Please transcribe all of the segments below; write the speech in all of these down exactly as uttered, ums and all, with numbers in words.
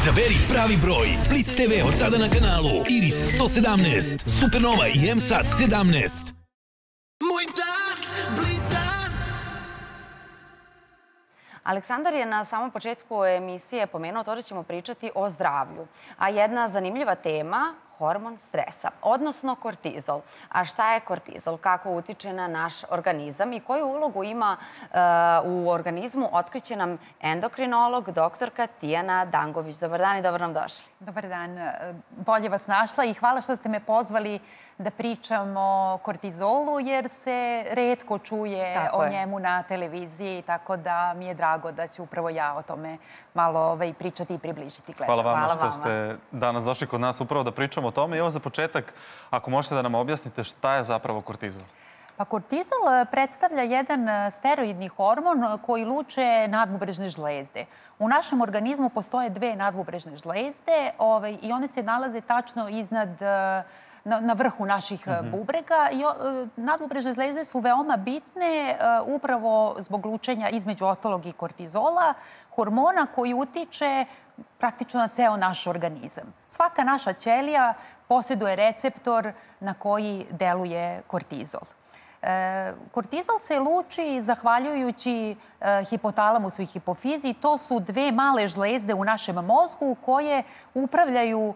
Izaberi pravi broj. Blitz te ve od sada na kanalu Iris sto sedamnaest, Supernova i M Sat sedamnaest. Moj dan, Blitz dan. Aleksandar je na samom početku emisije pomenuo to da ćemo pričati o zdravlju. A jedna zanimljiva tema, hormon stresa, odnosno kortizol. A šta je kortizol? Kako utiče na naš organizam i koju ulogu ima u organizmu? Otkriće nam endokrinolog, doktorka Tijana Dangović. Dobar dan i dobro nam došli. Dobar dan. Bolje vas našla i hvala što ste me pozvali da pričam o kortizolu, jer se retko čuje o njemu na televiziji, tako da mi je drago da ću upravo ja o tome malo pričati i približiti gledalcima. Hvala vam što ste danas došli kod nas upravo da pričamo o tome. I evo za početak, ako možete da nam objasnite šta je zapravo kortizol? Pa kortizol predstavlja jedan steroidni hormon koji luče nadbubrežne žlezde. U našem organizmu postoje dve nadbubrežne žlezde i one se nalaze tačno iznad na vrhu naših bubrega. Nadbubrežne žlezde su veoma bitne upravo zbog lučenja između ostalog i kortizola, hormona koji utiče praktično na ceo naš organizam. Svaka naša ćelija posjeduje receptor na koji deluje kortizol. Kortizol se luči zahvaljujući hipotalamusu i hipofizi. To su dve male žlezde u našem mozgu koje upravljaju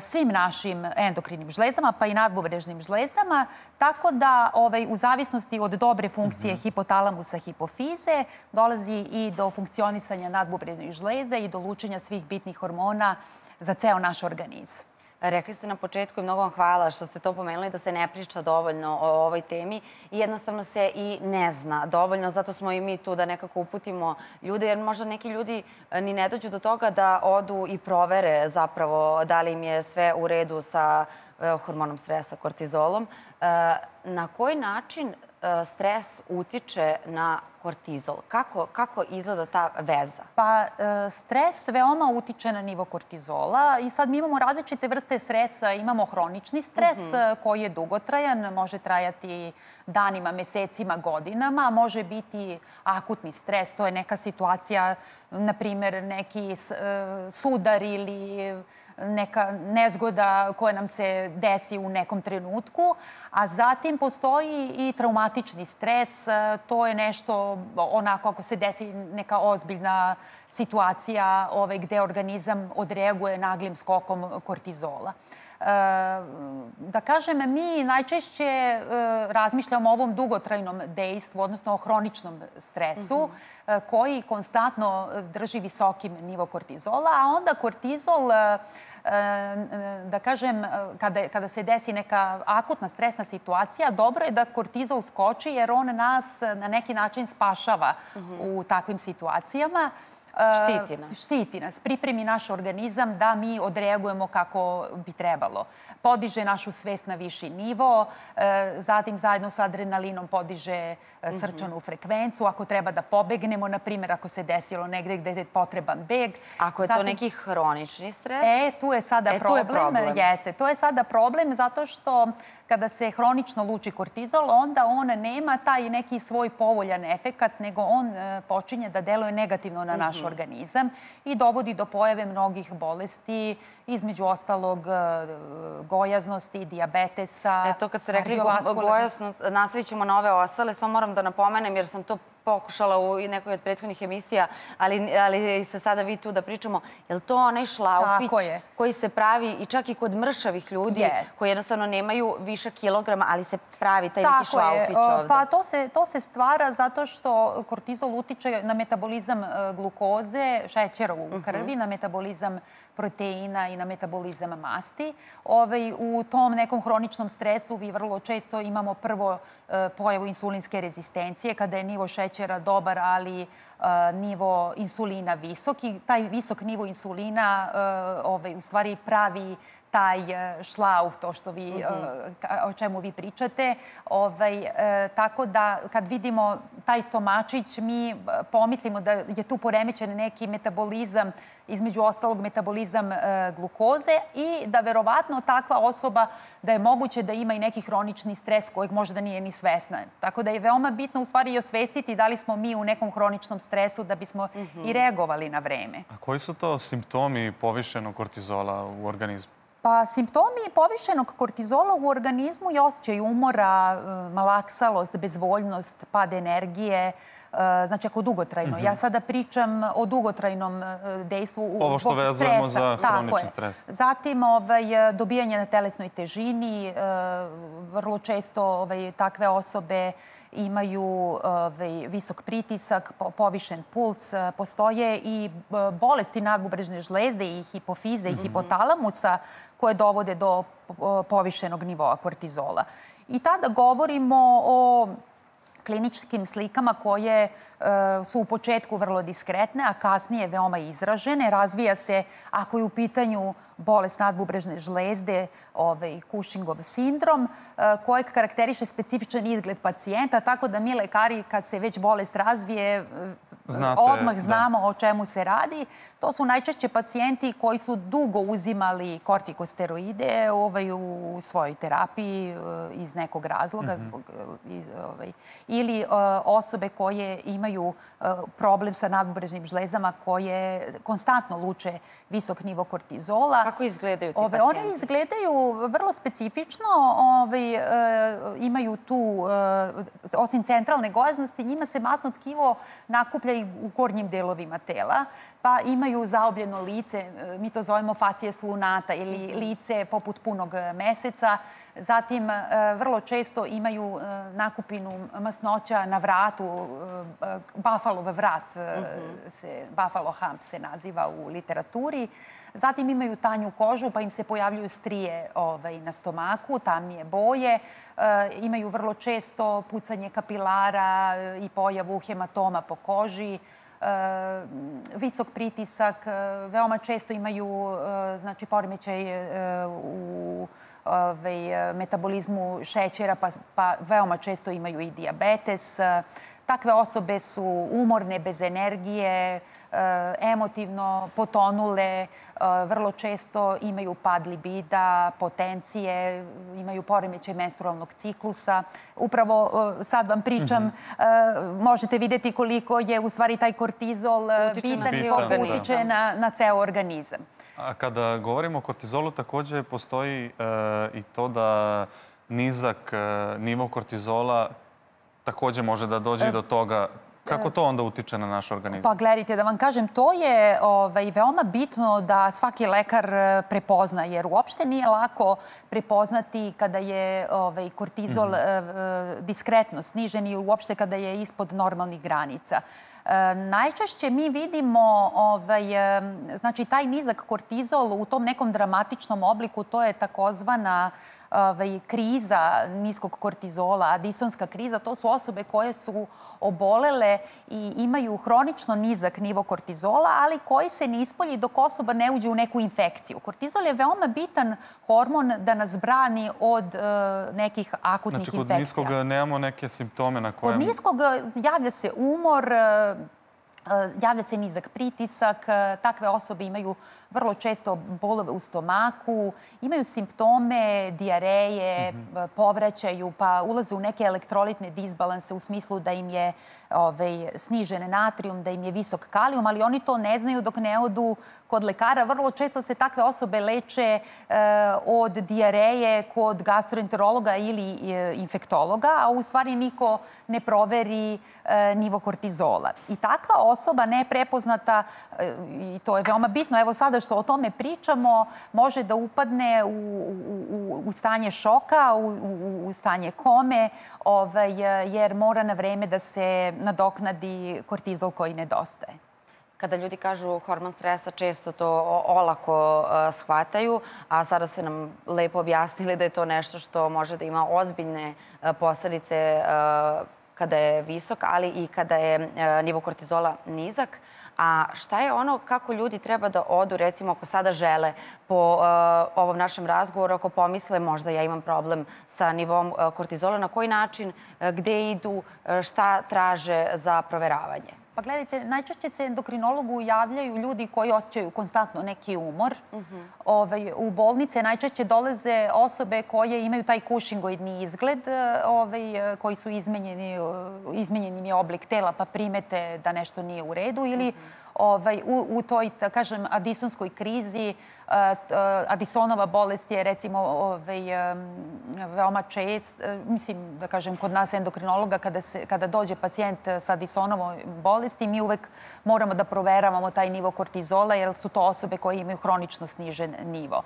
svim našim endokrinim žlezdama, pa i nadbubrežnim žlezdama, tako da u zavisnosti od dobre funkcije hipotalamusa hipofize dolazi i do funkcionisanja nadbubrežnih žlezda i do lučenja svih bitnih hormona za ceo naš organizam. Rekli ste na početku i mnogo vam hvala što ste to pomenuli da se ne priča dovoljno o ovoj temi i jednostavno se i ne zna dovoljno. Zato smo i mi tu da nekako uputimo ljude, jer možda neki ljudi ni ne dođu do toga da odu i provere zapravo da li im je sve u redu sa hormonom stresa, kortizolom. Na koji način stres utiče na kortizol? Kako izgleda ta veza? Pa stres veoma utiče na nivo kortizola i sad mi imamo različite vrste stresa. Imamo hronični stres koji je dugotrajan, može trajati danima, mesecima, godinama. Može biti akutni stres, to je neka situacija, na primjer neki sudar ili neka nezgoda koja nam se desi u nekom trenutku, a zatim postoji i traumatični stres. To je nešto onako ako se desi neka ozbiljna situacija gde organizam odreaguje naglim skokom kortizola. Da kažem, mi najčešće razmišljamo o ovom dugotrajnom dejstvu, odnosno o hroničnom stresu koji konstantno drži visokim nivo kortizola, a onda kortizol, da kažem, kada se desi neka akutna stresna situacija, dobro je da kortizol skoči jer on nas na neki način spašava u takvim situacijama. Štiti nas. Štiti nas. Pripremi naš organizam da mi odreagujemo kako bi trebalo. Podiže našu svest na viši nivo, zatim zajedno sa adrenalinom podiže srčanu frekvenciju. Ako treba da pobegnemo, na primjer, ako se desilo negde gde je potreban beg. Ako je to neki hronični stres? E, tu je sada problem. Jeste, to je sada problem zato što kada se hronično luči kortizol, onda on nema taj neki svoj povoljan efekat, nego on počinje da deluje negativno na naš organizam i dovodi do pojave mnogih bolesti, između ostalog gojaznosti, dijabetesa. Eto, kad ste rekli gojaznost, nastavit ćemo na ove ostale, samo moram da napomenem jer sam to pokušala u nekoj od prethodnih emisija, ali ste sada vi tu da pričamo. Je li to onaj šlaufić koji se pravi i čak i kod mršavih ljudi koji jednostavno nemaju više kilograma, ali se pravi taj neki šlaufić ovde? Pa to se stvara zato što kortizol utiče na metabolizam glukoze, šećera u krvi, na metabolizam proteina i na metabolizam masti. U tom nekom hroničnom stresu vi vrlo često imamo prvo pojavu insulinske rezistencije, kada je nivo šećera dobar, ali nivo insulina visok. I taj visok nivo insulina u stvari pravi taj šlauf, to što vi, o čemu vi pričate. Tako da kad vidimo taj stomačić, mi pomislimo da je tu poremećen neki metabolizam, između ostalog metabolizam glukoze i da verovatno takva osoba da je moguće da ima i neki hronični stres kojeg možda nije ni svesna. Tako da je veoma bitno u stvari i osvestiti da li smo mi u nekom hroničnom stresu da bismo i reagovali na vreme. A koji su to simptomi povišenog kortizola u organizmu? Pa simptomi povišenog kortizola u organizmu je osjećaj umora, malaksalost, bezvoljnost, pad energije, znači ako dugotrajno. Ja sada pričam o dugotrajnom dejstvu zbog stresa. Ovo što vezujemo za hronični stres. Zatim dobijanje na telesnoj težini. Vrlo često takve osobe imaju visok pritisak, povišen puls. Postoje i bolesti nadbubrežne žlezde i hipofize i hipotalamusa koje dovode do povišenog nivoa kortizola. I tada govorimo o kliničkim slikama koje su u početku vrlo diskretne, a kasnije veoma izražene. Razvija se, ako je u pitanju bolest nadbubrežne žlezde, Cushingov sindrom, kojeg karakteriše specifičan izgled pacijenta, tako da mi lekari, kad se već bolest razvije, odmah znamo o čemu se radi. To su najčešće pacijenti koji su dugo uzimali kortikosteroide u svojoj terapiji iz nekog razloga ili osobe koje imaju problem sa nadbubrežnim žlezdama koje konstantno luče visok nivo kortizola. Kako izgledaju ti pacijenti? One izgledaju vrlo specifično. Imaju tu, osim centralne gojaznosti, njima se masno tkivo nakuplja i u gornjim delovima tela, pa imaju zaobljeno lice, mi to zovemo facies lunata ili lice poput punog meseca. Zatim, vrlo često imaju nakupinu masnoća na vratu, Buffalov vrat, Buffalo hump se naziva u literaturi. Zatim imaju tanju kožu, pa im se pojavljuju strije na stomaku, tamnije boje. Imaju vrlo često pucanje kapilara i pojavu hematoma po koži. Visok pritisak, veoma često imaju poremećaj u metabolizmu šećera, pa veoma često imaju i dijabetes. Takve osobe su umorne, bez energije, emotivno potonule, vrlo često imaju pad libida, potencije, imaju poremećaj menstrualnog ciklusa. Upravo sad vam pričam, možete vidjeti koliko je u stvari taj kortizol bitan i koliko utiče na ceo organizam. A kada govorimo o kortizolu, također postoji i to da nizak nivo kortizola također može da dođe do toga. Kako to onda utiče na naš organizam? Pa gledajte, da vam kažem, to je veoma bitno da svaki lekar prepozna, jer uopšte nije lako prepoznati kada je kortizol diskretno snižen i uopšte kada je ispod normalnih granica. Najčešće mi vidimo znači taj nizak kortizol u tom nekom dramatičnom obliku, to je takozvana kriza niskog kortizola, adisonska kriza. To su osobe koje su obolele i imaju hronično nizak nivo kortizola, ali koji se ne ispolji dok osoba ne uđe u neku infekciju. Kortizol je veoma bitan hormon da nas brani od nekih akutnih infekcija. Znači, kod niskog nemamo neke simptome na kojem... Kod niskog javlja se umor, javlja se nizak pritisak, takve osobe imaju vrlo često bolove u stomaku, imaju simptome dijareje, povraćaju, pa ulaze u neke elektrolitne disbalanse u smislu da im je snižen natrijum, da im je visok kalijum, ali oni to ne znaju dok ne odu kod lekara. Vrlo često se takve osobe leče od dijareje kod gastroenterologa ili infektologa, a u stvari niko ne proveri nivo kortizola. I takva osoba neprepoznata, i to je veoma bitno, evo sada što o tome pričamo, može da upadne u stanje šoka, u stanje kome, jer mora na vreme da se nadoknadi kortizol koji nedostaje. Kada ljudi kažu hormon stresa, često to olako shvataju, a sada ste nam lepo objasnili da je to nešto što može da ima ozbiljne posledice kada je visok, ali i kada je nivo kortizola nizak. A šta je ono kako ljudi treba da odu, recimo ako sada žele po ovom našem razgovoru, ako pomisle možda ja imam problem sa nivom kortizola, na koji način, gde idu, šta traže za proveravanje? Pa gledajte, najčešće se endokrinologu javljaju ljudi koji osjećaju konstantno neki umor. U bolnice najčešće dolaze osobe koje imaju taj Cushingoidni izgled, koji su izmenjeni oblik tela pa primete da nešto nije u redu ili u toj, da kažem, adisonskoj krizi. Adisonova bolest je, recimo, veoma čest. Mislim, da kažem, kod nas endokrinologa, kada dođe pacijent sa Adisonovom bolesti, mi uvek moramo da proveravamo taj nivo kortizola, jer su to osobe koje imaju hronično snižen nivo.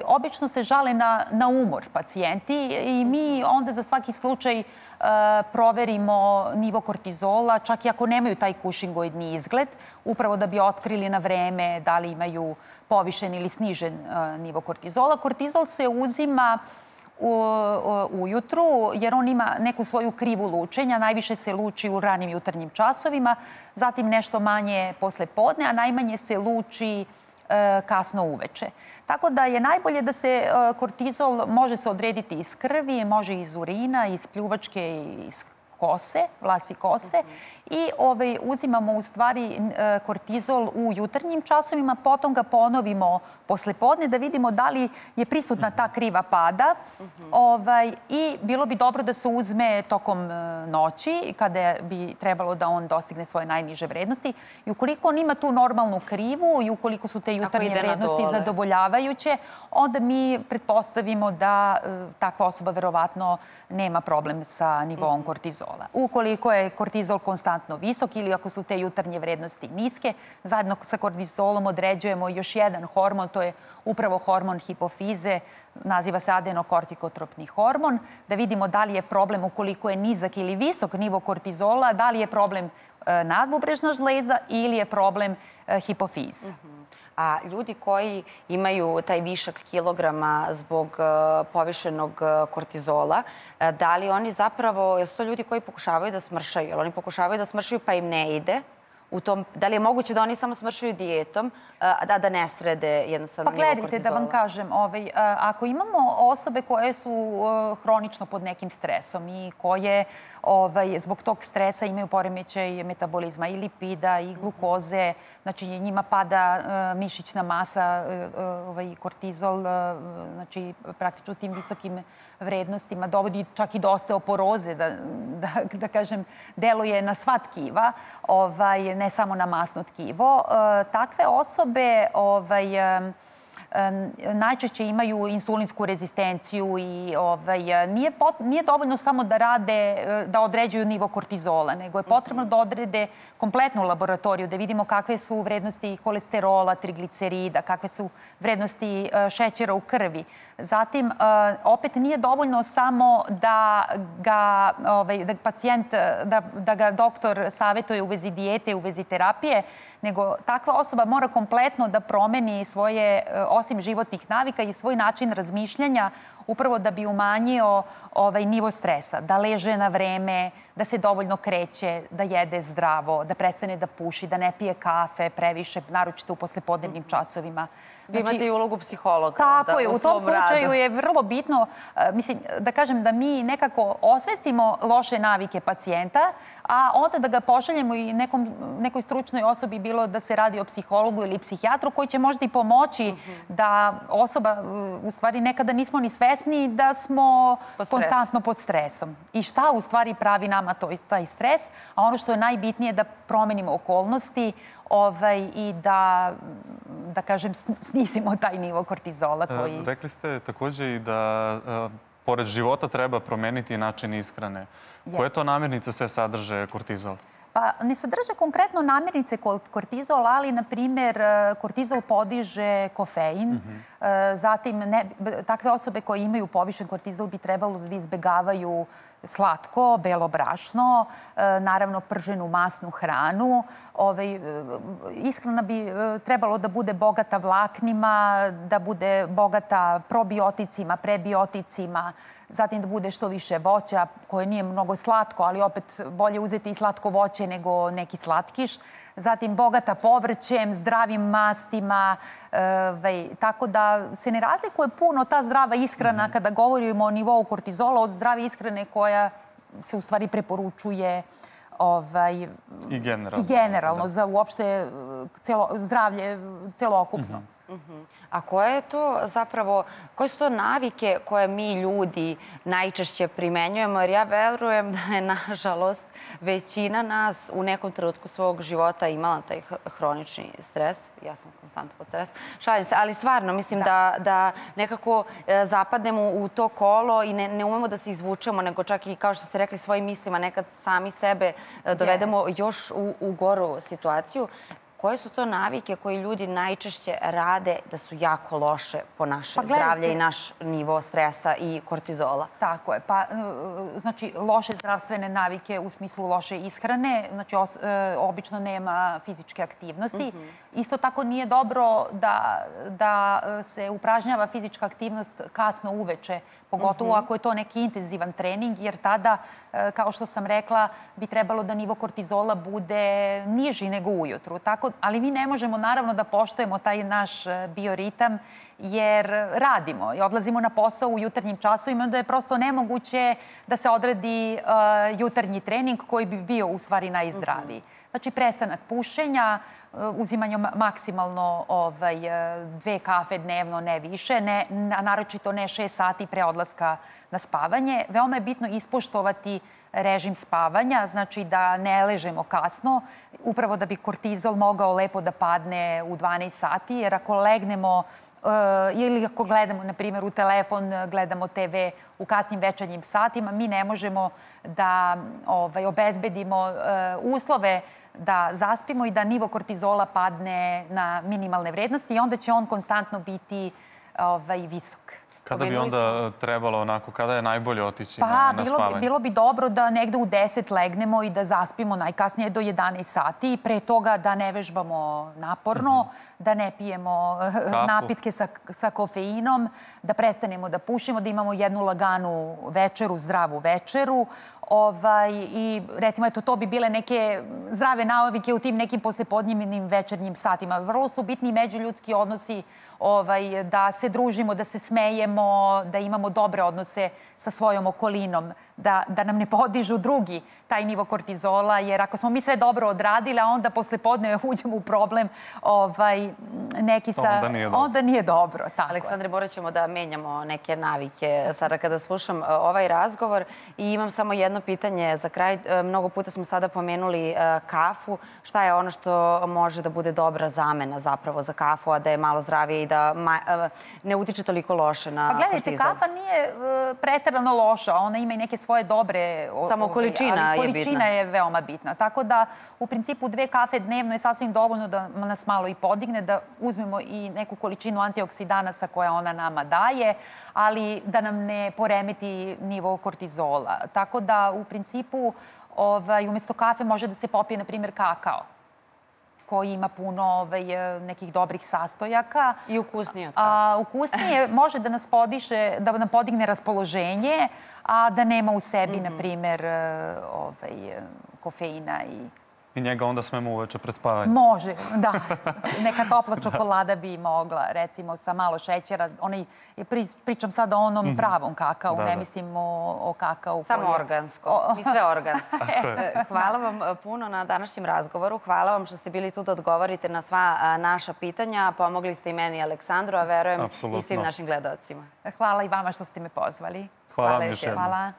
Obično se žale na umor pacijenti i mi onda za svaki slučaj proverimo nivo kortizola, čak i ako nemaju taj Cushingoidni izgled, upravo da bi otkrili na vreme da li imaju povišen ili snižen nivo kortizola. Kortizol se uzima ujutru jer on ima neku svoju krivu lučenja. Najviše se luči u ranim jutarnjim časovima, zatim nešto manje posle podne, a najmanje se luči kasno uveče. Tako da je najbolje da se kortizol može se odrediti iz krvi, može iz urina, iz pljuvačke, iz kose, vlasi kose i uzimamo u stvari kortizol u jutarnjim časovima, potom ga ponovimo posle podne da vidimo da li je prisutna ta kriva pada i bilo bi dobro da se uzme tokom noći kada bi trebalo da on dostigne svoje najniže vrednosti i ukoliko on ima tu normalnu krivu i ukoliko su te jutarnje vrednosti zadovoljavajuće, onda mi pretpostavimo da takva osoba verovatno nema problem sa nivoom kortizola. Ukoliko je kortizol konstantno visok ili ako su te jutarnje vrednosti niske, zajedno sa kortizolom određujemo još jedan hormon, to je upravo hormon hipofize, naziva se adenokortikotropni hormon, da vidimo da li je problem ukoliko je nizak ili visok nivo kortizola, da li je problem nadbubrežna žlezda ili je problem hipofiz. A ljudi koji imaju taj višak kilograma zbog povišenog kortizola, da li oni zapravo, jesu to ljudi koji pokušavaju da smršaju? Jer oni pokušavaju da smršaju pa im ne ide? Da li je moguće da oni samo smršaju dijetom, a da ne srede jednostavno nivo kortizola? Pa gledajte, da vam kažem, ako imamo osobe koje su hronično pod nekim stresom i koje zbog tog stresa imaju poremećaj metabolizma i lipida i glukoze, znači njima pada mišićna masa, kortizol, znači praktično tim visokim vrednostima dovodi čak i do osteoporoze, da kažem, deluje na sva tkiva, ne samo na masno tkivo. Takve osobe najčešće imaju insulinsku rezistenciju i nije dovoljno samo da rade, da određuju nivo kortizola, nego je potrebno da odrede kompletnu laboratoriju, da vidimo kakve su vrednosti kolesterola, triglicerida, kakve su vrednosti šećera u krvi. Zatim, opet nije dovoljno samo da ga pacijent, da ga doktor savjetuje u vezi dijete, u vezi terapije, nego takva osoba mora kompletno da promeni svoje, osim životnih navika i svoj način razmišljanja, upravo da bi umanjio nivo stresa, da leže na vreme, da se dovoljno kreće, da jede zdravo, da prestane da puši, da ne pije kafe previše, naročito u poslepodnevnim časovima. Vi imate i ulogu psihologa. Tako je, u tom slučaju je vrlo bitno, mislim, da kažem da mi nekako osvestimo loše navike pacijenta, a onda da ga pošaljemo i nekoj stručnoj osobi, bilo da se radi o psihologu ili psihijatru, koji će možda i pomoći da osoba, u stvari nekada nismo ni svesni da smo konstantno pod stresom. I šta u stvari pravi nama taj stres, a ono što je najbitnije da promenimo okolnosti i da, da kažem, snizimo taj nivo kortizola koji... Rekli ste također i da pored života treba promeniti način ishrane. Koje to namirnice sve sadrže kortizol? Pa ne sadrže konkretno namirnice kortizol, ali, na primjer, kortizol podiže kofein. Zatim, takve osobe koje imaju povišen kortizol bi trebalo da izbegavaju slatko, belo brašno, naravno prženu masnu hranu. Ishrana bi trebalo da bude bogata vlaknima, da bude bogata probioticima, prebioticima, zatim da bude što više voća koje nije mnogo slatko, ali opet bolje uzeti i slatko voće nego neki slatkiš. Zatim bogata povrćem, zdravim mastima, tako da se ne razlikuje puno ta zdrava ishrana kada govorimo o nivou kortizola od zdrave ishrane koja se u stvari preporučuje i generalno za uopšte zdravlje celokupno. A koje je to zapravo, koje su to navike koje mi ljudi najčešće primenjujemo? Jer ja verujem da je, nažalost, većina nas u nekom trenutku svog života imala taj hronični stres. Ja sam konstantno pod stresom. Šalim se, ali stvarno mislim da nekako zapadnemo u to kolo i ne umemo da se izvučemo, nego čak i, kao što ste rekli, svojim mislima nekad sami sebe dovedemo još u goru situaciju. Koje su to navike koje ljudi najčešće rade da su jako loše po naše zdravlje i naš nivo stresa i kortizola? Tako je. Pa, znači, loše zdravstvene navike u smislu loše ishrane, znači, obično nema fizičke aktivnosti. Isto tako nije dobro da se upražnjava fizička aktivnost kasno uveče, pogotovo ako je to neki intenzivan trening, jer tada, kao što sam rekla, bi trebalo da nivo kortizola bude niži nego ujutru. Ali mi ne možemo, naravno, da poštujemo taj naš bioritam, jer radimo i odlazimo na posao u jutarnjim časovima, onda je prosto nemoguće da se odredi jutarnji trening koji bi bio u stvari najzdraviji. Znači, prestanak pušenja, uzimanje maksimalno dve kafe dnevno, ne više, a naročito ne šest sati pre odlaska na spavanje. Veoma je bitno ispoštovati režim spavanja, znači da ne ležemo kasno, upravo da bi kortizol mogao lepo da padne u dvanaest sati, jer ako legnemo ili ako gledamo, na primjer, u telefon, gledamo te ve u kasnim večernjim satima, mi ne možemo da obezbedimo uslove da zaspimo i da nivo kortizola padne na minimalne vrednosti i onda će on konstantno biti visok. Kada bi onda trebalo onako, kada je najbolje otići na spavanje? Pa, bilo bi dobro da negde u deset legnemo i da zaspimo najkasnije do jedanaest sati i pre toga da ne vežbamo naporno, da ne pijemo napitke sa kofeinom, da prestanemo da pušimo, da imamo jednu laganu večeru, zdravu večeru. I recimo, eto, to bi bile neke zdrave navike u tim nekim poslepodnevnim večernjim satima. Vrlo su bitni međuljudski odnosi, da se družimo, da se smejemo, da imamo dobre odnose sa svojom okolinom, da nam ne podižu drugi taj nivo kortizola, jer ako smo mi sve dobro odradili, a onda posle podneve uđemo u problem neki sa... Onda nije dobro. Aleksandre, morat ćemo da menjamo neke navike sada kada slušam ovaj razgovor i imam samo jedno pitanje za kraj. Mnogo puta smo sada pomenuli kafu. Šta je ono što može da bude dobra zamena zapravo za kafu, a da je malo zdravije i da ne utiče toliko loše na kortizol? Pa gledajte, kafa nije preterano loša. Ona ima i neke svoje dobre... Samo količina je bitna. Količina je veoma bitna. Tako da, u principu, dve kafe dnevno je sasvim dovoljno da nas malo i podigne, da uzmemo i neku količinu antioksidanasa koja ona nama daje, ali da nam ne poremeti nivo kortizola. Tako da, u principu, umjesto kafe može da se popije, na primjer, kakao, koji ima puno nekih dobrih sastojaka. I ukusnije od kafe. Ukusnije može da nas podiše, da nam podigne raspoloženje, a da nema u sebi, na primjer, kofeina i... I njega onda smemo uveče pred spavanje. Može, da. Neka topla čokolada bi mogla, recimo, sa malo šećera. Pričam sad o onom pravom kakao, ne mislim o kakao. Samo organsko. Mi sve organsko. Hvala vam puno na današnjem razgovoru. Hvala vam što ste bili tu da odgovorite na sva naša pitanja. Pomogli ste i meni, Aleksandru, a verujem i svim našim gledalcima. Hvala i vama što ste me pozvali. Hvala vam još jednom. Hvala.